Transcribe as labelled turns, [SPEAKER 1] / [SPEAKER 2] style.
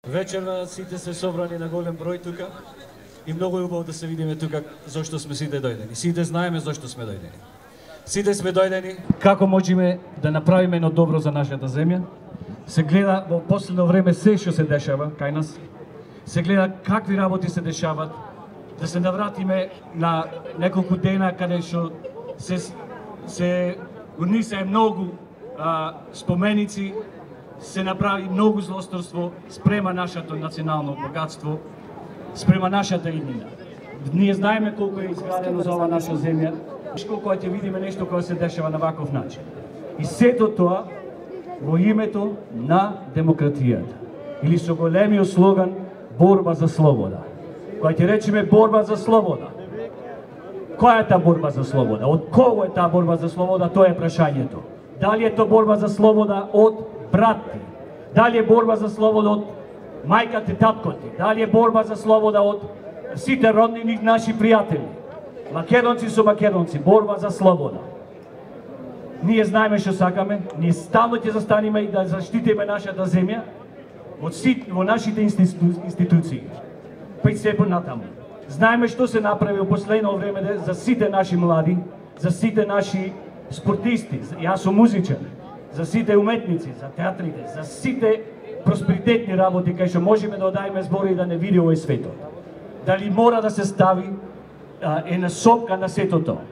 [SPEAKER 1] Вечерва сите се собрани на голем број тука и многу е убаво да се видиме тука зошто сме сите дојдени. Сите знаеме зошто сме дојдени. Сите сме дојдени како можеме да направиме едно добро за нашата земја. Се гледа во последно време се што се дешава кај нас. Се гледа какви работи се дешават, да се навратиме на неколку дена каде што се унесе многу споменици, се направи многу злосторство спрема нашето национално богатство, спрема нашата иднина. Ние знаеме колку е изградено за ова наша земја, колку ќе видиме нешто кое се дешава на ваков начин. И сето тоа во името на демократијата. Или со големиот слоган борба за слобода. Кога ќе речеме борба за слобода, која е таа борба за слобода? Од кого е таа борба за слобода? Тоа е прашањето. Дали е тоа борба за слобода од братти? Дали е борба за слобода од мајката и таткоти? Дали е борба за слобода од сите роднини наши пријатели? Македонци со македонци, борба за слобода. Ние знаеме што сакаме, ние стално ќе застанеме и да заштитиме нашата земја во нашите институции. Па и се понатаму. Знаеме што се направи во последно време за сите наши млади, за сите наши спортисти, јас сум музичар, за сите уметници, за театрите, за сите просперитетни работи кај што можеме да одајме збори и да не види овој светот. Дали мора да се стави една сопка на сето тоа?